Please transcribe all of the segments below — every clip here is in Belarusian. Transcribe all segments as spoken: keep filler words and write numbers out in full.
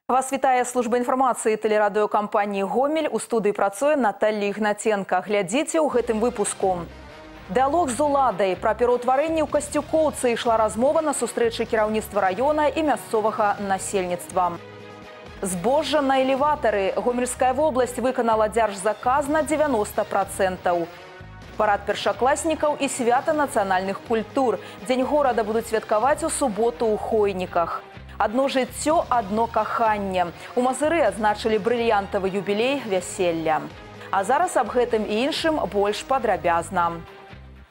Вас вітае служба інфармацыі тэлерадыёкампаніі «Гомель». У студыі працуе Наталья Ігнаценка. Глядзіце ў гэтым выпуску. Дыалог з уладай. Пра пераўтварэнне ў Касцюкоўцы ішла размова на сустрэчы кіраўніцтва раёна і мясцовага насельніцтва. Збожжа на элеватары. Гомельская вобласць выканала дзяржзаказ на дзевяноста працэнтаў. Парад першакласнікаў і свята нацыянальных культур. Дзень горада будуць святкаваць у суботу ў Хойніках. Одно жыццё, одно каханне. У Мазыры адзначылі брыльянтавы юбілей вяселля. А зараз аб гэтым і іншым больш падрабязна.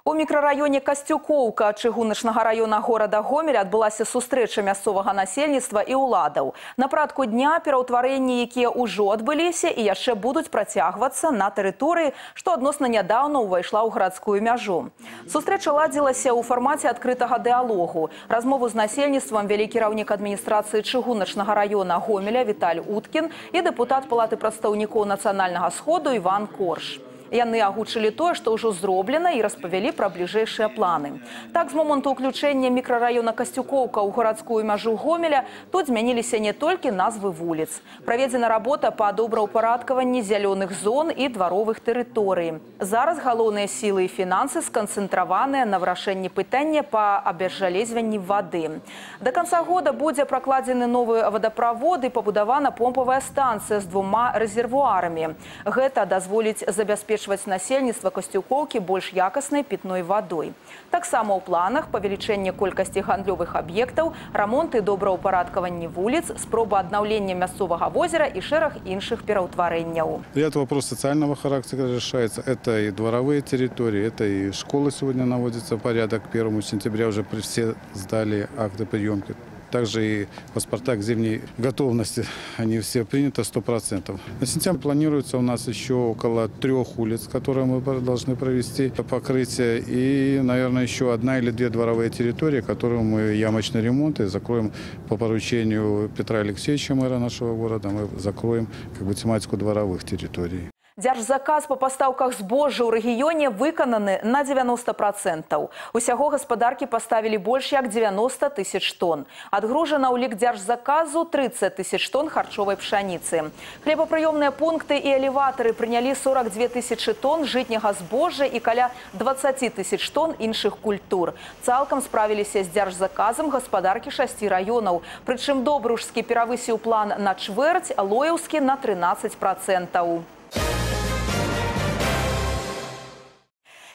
У мікрараёне Касцюкоўка чыгуначнага раёна горада Гомель адбылася сустрэча мясцовага насельніцтва і ўладаў. На парадку дня пераўтварэнні, якія ўжо адбыліся і яшчэ будуць працягвацца на тэрыторыі, што адносна нядаўна ўвайшла ў гарадскую мяжу. Сустрэча ладзілася ў фармаце адкрытага дыалогу. Размову з насельніцтвам вялі кіраўнік адміністрацыі чыгуначнага раёна Гомеля Віталь Уткін і дэпутат Палаты прадстаўнікоў нацыянальнага сходу Іван Корж. Яны агучылі тое, што ўжо зроблена, і распавялі пра бліжэйшыя планы. Так, з моманту ўключэння мікрараёна Касцюкоўка ў гарадскую мяжу Гомеля тут змяніліся не толькі назвы вуліц. Праведзена работа па добраўпарадкаванні зялёных зон і дваровых тэрыторый. Зараз галоўныя сілы і фінансы сканцэнтраваныя на вырашэнні пытання па абезжалезванні вады. Да канца года будзе пракладзены новы вадаправод і пабудавана помпавая станцыя з двума рэзервуарамі. Гэта дазволіць забяспечыць насельніцтва Касцюкоўкі больш якаснай пітной вадой. Таксама ў планах павелічэнне колькасці гандлёвых аб'ектаў, рамонт і добраўпарадкаванне вуліц, спроба аднаўлення мясцовага возера і шэраг іншых пераўтварэнняў. Ряд вопрос социального характера решается. Это и дворовые территории, это и школы сегодня наводится в порядок. первого сентября уже все сдали акты приемки. Также и паспорта к зимней готовности, они все приняты сто процентов. На сентябрь планируется у нас еще около трех улиц, которые мы должны провести покрытие. И, наверное, еще одна или две дворовые территории, которые мы ямочный ремонт и закроем по поручению Петра Алексеевича, мэра нашего города. Мы закроем как бы тематику дворовых территорий. Дзяржзаказ па пастаўках збожжа ў рэгіёне выкананы на дзевяноста працэнтаў. Усяго гаспадаркі паставілі больш як дзевяноста тысяч тонн. Адгружана ў лік дзяржзаказу трыццаць тысяч тонн харчовай пшаніцы. Хлебапрыёмныя пункты і элеватары прынялі сорак дзве тысячы тонн жытняга збожжа і каля дваццаць тысяч тонн іншых культур. Цалкам справіліся з дзяржзаказам гаспадаркі шасці раёнаў. Прычым Добружскі перавысіў план на чвэрць, Лоеўскі на трынаццаць працэнтаў.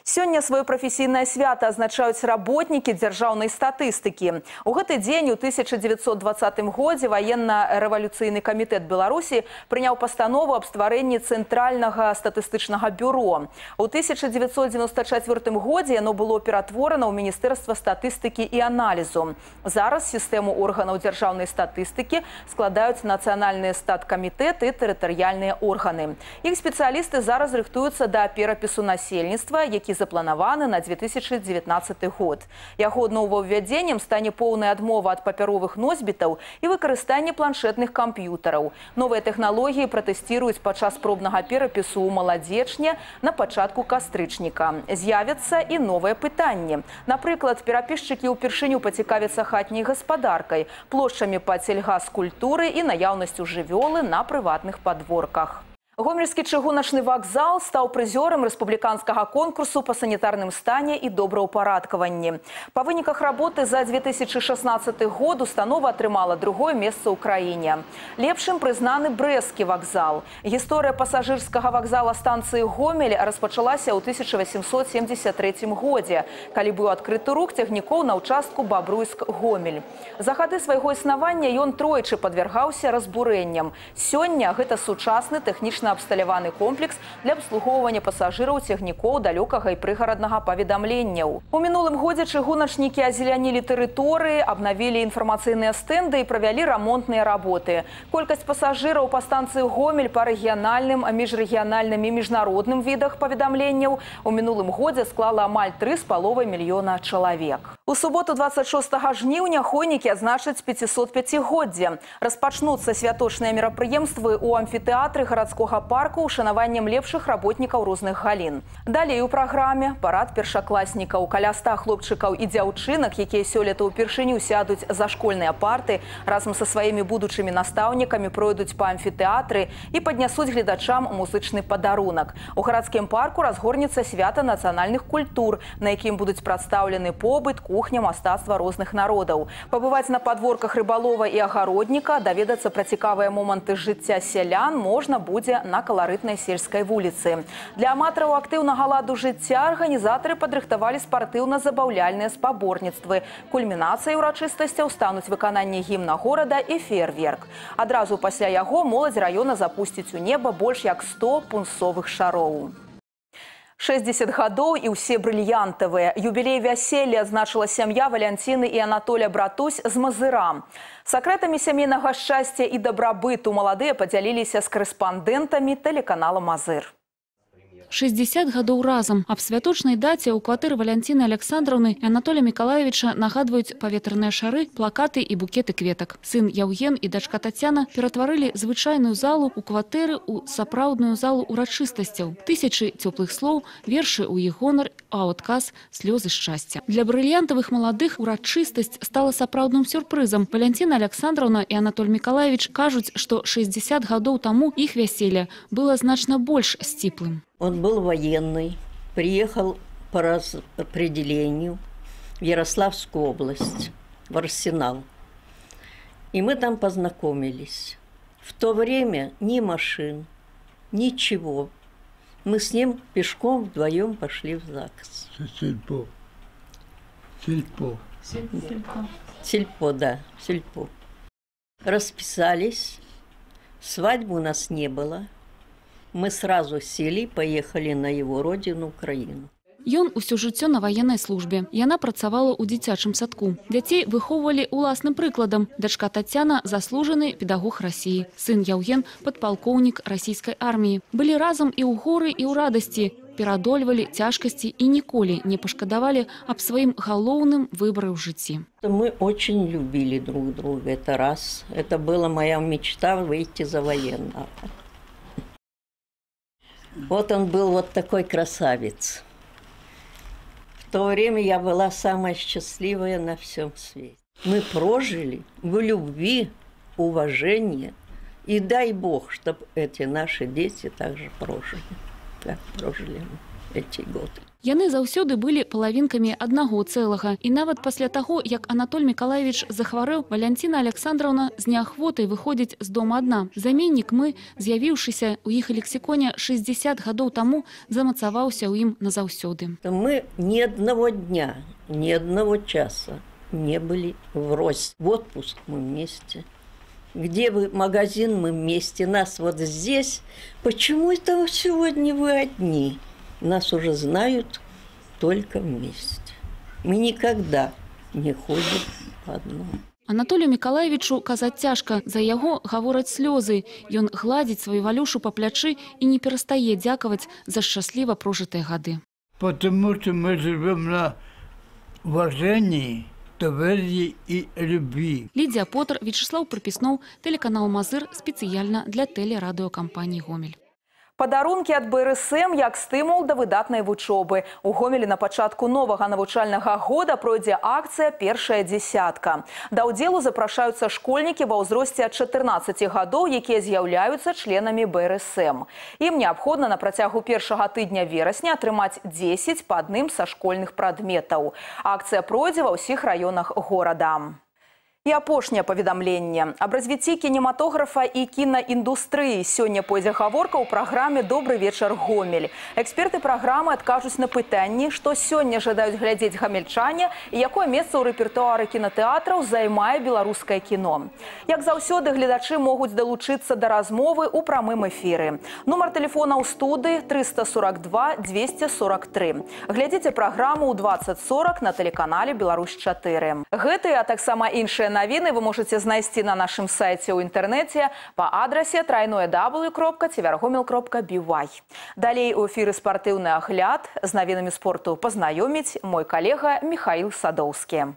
Сёння сваё прафесійнае свята адзначаюць работнікі дзяржаўнай статыстыкі. У гэты дзень у тысяча дзевяцьсот дваццатым годзе ваенна-рэвалюцыйны камітэт Беларусі прыняў пастанову аб стварэнні цэнтральнага статыстычнага бюро. У тысяча дзевяцьсот дзевяноста чацвёртым годзе яно было ператворана ў Міністэрства статыстыкі і аналізу. Зараз сістэму органаў дзяржаўнай статыстыкі складаюць нацыянальныя статкамітэты і тэрытарыяльныя органы. Іх спецыялісты зараз рыхтуюцца да перапісу насельніцтва, які запланаваны на дзве тысячы дзевятнаццаты год. Яго новаўвядзеннем стане поўная адмова ад папяровых носьбітаў і выкарыстанне планшетных камп'ютараў. Новыя тэхналогіі пратэсціруюць падчас пробнага перапісу ў маладзечня на пачатку кастрычніка. З'явяцца і новыя пытанні. Напрыклад, перапісчыкі ўпершыню пацікавяцца хатняй гаспадаркай, плошчамі пад сельгаскультуры і наяўнасцю жывёлы на прыватных падворках. Гомельскі чыгуначны вакзал стаў прызёрам рэспубліканскага конкурсу па санітарным стане і добраўпарадкаванні. Па выніках работы за дзве тысячы шаснаццаты год установа атрымала другое месца ў краіне. Лепшым прызнаны брэсцкі вакзал. Гісторыя пасажырскага вакзала станцыі Гомель распачалася ў тысяча васемсот семдзесят трэцім годзе, калі быў адкрыты рух цягнікоў на ўчастку Бабруйск-Гомель. За гады свайго існавання ён тройчы падвяргаўся разбурэнням. Сёння гэта сучасны тэхнічны абсталяваны комплекс для абслугоўвання пасажыраў цягнікоў далёкага і прыгараднага паведамленняў. У мінулым годзе чыгуначнікі азелянілі тэрыторыі, абнавілі інфармацыйныя стэнды і правялі рамонтныя работы. Колькасць пасажыраў па станцыі Гомель па рэгіянальным, міжрэгіянальным і міжнародным відах паведамленняў у мінулым годзе склала амаль тры з паловай мільёна чалавек. У суботу двадцать шостага жніўня хойнікі адзначаць пяцісотпяцігоддзе. Распачнуцца святочныя мерапрыемствы ў амфітэатры гарадскога парку ушанаваннем лепшых работнікаў розных галін. Далей у праграме парад першакласнікаў, каля ста хлопчыкаў і дзяўчынак, якія сёлета ўпершыню сядуць за школьныя парты, разам са сваімі будучымі настаўнікамі пройдуць па амфітэатры і паднясуць гледачам музычны падарунак. У гарадскім парку разгорнецца свята нацыянальных культур, на якім будуць прадстаўлены побыт, кухня, мастацтва розных народаў. Пабываць на падворках рыбалова і агародніка, даведацца пра цікавыя моманты жыцця сялян можна будзе на каларытнай сельскай вуліцы. Для аматараў актыўнага ладу жыцця арганізатары падрыхтавалі спартыўна-забаўляльныя спаборніцтвы. Кульмінацыяй урачыстасцяў стануць выкананне гімна горада і феерверк. Адразу пасля яго моладзь раёна запусціць у неба больш як сто пунсовых шароў. шэсцьдзесят гадоў і ўсе брыльянтавыя. Юбілей вяселля адзначыла сям'я Валянціны і Анатоля Братусь з Мазыра. Сакрэтамі сямейнага шчасця і дабрабыту маладыя падзяліліся з корэспандэнтамі тэлеканала «Мазыр». шэсцьдзесят гадоў разам. Аб святочнай даце ў кватэры Валянціны Александраўны і Анатолія Мікалаевіча нагадваюць паветраныя шары, плакаты і букеты кветак. Сын Яўген і дачка Тацяна ператварылі звычайную залу ў кватэры ў сапраўдную залу урачыстасцяў. Тысячы цёплых слоў, вершы ў іх гонар, а ў адказ слёзы шчасця. Для брыльянтавых маладых урачыстасць стала сапраўдным сюрпрызам. Валянціна Александраўна і Анатоль Мікалаевіч кажуць, што шэсцьдзесят гадоў таму іх вяселле было значна больш сціплым. Он был военный, приехал по распределению в Ярославскую область, в Арсенал. И мы там познакомились. В то время ни машин, ничего. Мы с ним пешком вдвоем пошли в ЗАГС. Сельпо. Сельпо. Сельпо. Сельпо, да, сельпо. Расписались. Свадьбы у нас не было. Мы сразу сели и поехали на его родину, Украину. Ён усё жыццё на ваеннай службе. Яна працавала ў дзіцячым садку. Дзяцей выхоўвалі уласным прыкладам. Дачка Тацяна – заслужаны педагог Расіі. Сын Яўген – падпалкоўнік расійскай арміі. Былі разам і ў горы, і ў радасці. Перадольвалі цяжкасці і ніколі не пашкадавалі аб сваім галоўным выбары ў жыцці. Мы очень любили друг друга. Это раз. Это была моя мечта выйти за военного. Вот он был вот такой красавец. В то время я была самая счастливая на всем свете. Мы прожили в любви, уважении. И дай Бог, чтобы эти наши дети также прожили, как прожили мы эти годы. Яны заўсёды былі палавінкамі аднаго цэлага. І нават пасля таго, як Анатоль Мікалаевіч захварэў, Валянціна Александраўна з неахвотай выходзіць з дома адна. Заменнік мы, з'явіўшыся ў іх лексіконе шэсцьдесят гадоў таму, замацаваўся ў ім назаўсёды. Мы ни одного дня, ни одного часа не были врозь. В отпуск мы вместе. Где вы, магазин мы вместе. Нас вот здесь. Почему это сегодня вы одни? Нас уже знают только вместе. Мы никогда не ходим по одному. Анатолію Мікалаевічу казаць цяжка. За яго гавораць слёзы. Ён гладзіць сваю Валюшу па плячы і не перастае дзякаваць за шчасліва прожытыя гады. Потому что мы живем на уважении, доверии и любви. Лідія Потар, Вячеслав Припіснов, телеканал «Мазыр» спецыяльна для тэлерадыёкампаніі «Гомель». Падарункі ад бэ эр эс эм як стымул да выдатнай вучобы. У Гомелі на пачатку новага навучальнага года пройдзе акцыя «Першая дзесятка». Да ўдзелу запрашаюцца школьнікі ва ўзросце ад чатырнаццаці гадоў, якія з'яўляюцца членамі бэ эр эс эм. Ім неабходна на працягу першага тыдня верасня атрымаць дзесяць па адным са школьных прадметаў. Акцыя пройдзе ва ўсіх раёнах горада. І апошняе паведамленне. Аб развіцці кінематографа і кінаіндустрыі сёння пойдзе гаворка ў праграме «Добры вечар, Гомель». Эксперты праграмы адкажуць на пытанні, што сёння жадаюць глядзець гамельчане і якое месца ў рэпертуары кінатэатраў займае беларускае кіно. Як заўсёды, гледачы могуць далучыцца да размовы ў прамым эфіры. Нумар тэлефона ў студыі трыста сорок два дзвесце сорок тры. Глядзіце праграму ў дваццаць сорок на тэлеканале «Беларусь чатыры». Гэтыя, а таксама іншыя навіны вы можете знайсці на нашым сайце ў інтэрнэце па адрасе трайное дабл ю кропка цвяргомел кропка би вай. Далей у эфіры спартыўны агляд. З навінамі спорту пазнаёміць мой калега Михаил Садоўскі.